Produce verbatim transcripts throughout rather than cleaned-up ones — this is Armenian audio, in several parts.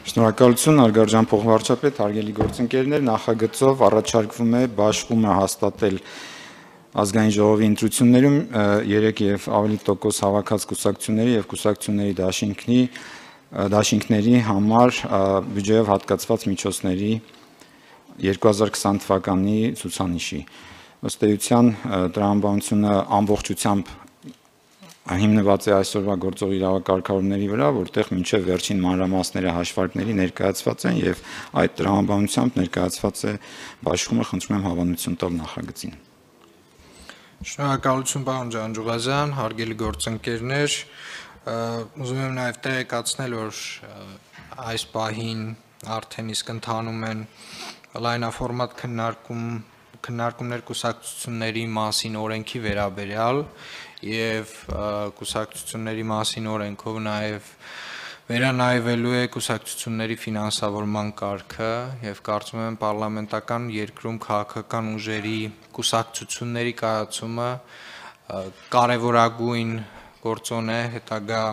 Շնորհակալություն, հարգարժան փոխվարչապետ, հարգելի գործընկերներ, նախագծով առաջարկվում է բաշխումը հաստատել ազգային ժողովի ընտրություններում երեք եւ ավելի տոկոս հավաքած կուսակցությունների եւ կուսակցությունների դաշինքների դաշինքների համար բյուջեով հատկացված միջոցների երկու հազար քսան թվականի ցուցանիշի։ Ըստ էության տրամաբանությունը ամբողջությամբ հիմնված է այսօրվա գործող իրավակարգավորումների վրա, որտեղ մինչև վերջին մանրամասները հաշվարկների ներկայացված են եւ այդ տրամաբանությամբ ներկայացված է բաշխումը, խնդրում եմ հավանություն տալ նախագծին։ Շնորհակալություն պարոն Ջանջուղազյան, հարգելի գործընկերներ, ուզում եմ նաեւ տեղեկացնել, որ այս պահին արդեն իսկ ընթանում են լայնաֆորմատ քննարկում քննարկումներ կուսակցությունների մասին օրենքի վերաբերյալ եւ կուսակցությունների մասին օրենքով նաեւ վերանայվելու է կուսակցությունների ֆինանսավորման կարգը եւ կարծում եմ պարլամենտական երկրում քաղաքական ուժերի կուսակցությունների կայացումը կարեւորագույն գործոն է հետագա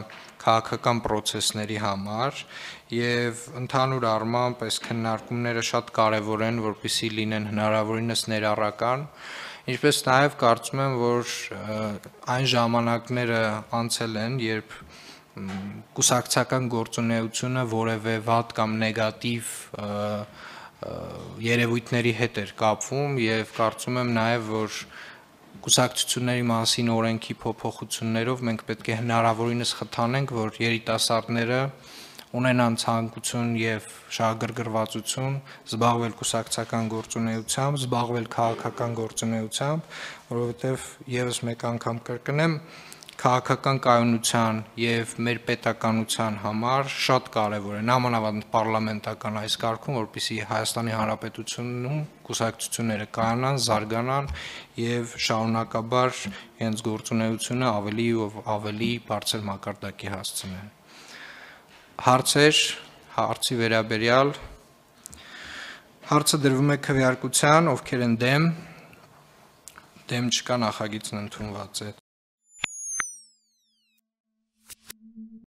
քաղաքական process-ների համար եւ ընդհանուր առմամբ այս քննարկումները շատ կարեւոր են, որպեսզի լինեն հնարավորինս ներառական, ինչպես նաեւ կարծում եմ, որ այն ժամանակները անցել են, երբ կուսակցական գործունեությունը որևէ վատ կամ նեգատիվ երևույթների հետ էր կապվում եւ կարծում եմ նաեւ, որ կուսակցությունների մասին օրենքի փոփոխություններով մենք պետք է հնարավորինս խթանենք, որ երիտասարդները ունենան ցանկություն եւ շահագրգռվածություն զբաղվել կուսակցական գործունեությամբ, զբաղվել քաղաքական գործունեությամբ, որովհետեւ եւս մեկ անգամ կրկնեմ, քաղաքական կայունության եւ մեր պետականության համար շատ կարեւոր է նամանավանդ պարլամենտական այս կարգում, որպեսզի Հայաստանի Հանրապետությունում կուսակցությունները կայանան, զարգանան եւ շարունակաբար իրենց գործունեությունը ավելի ու ավելի բարձր մակարդակի հասցնեն։ Հարցեր, հարցի վերաբերյալ հարցը դրվում է քվեարկության, ովքեր են դեմ, դեմ չկա, նախագիծն ընդունված է։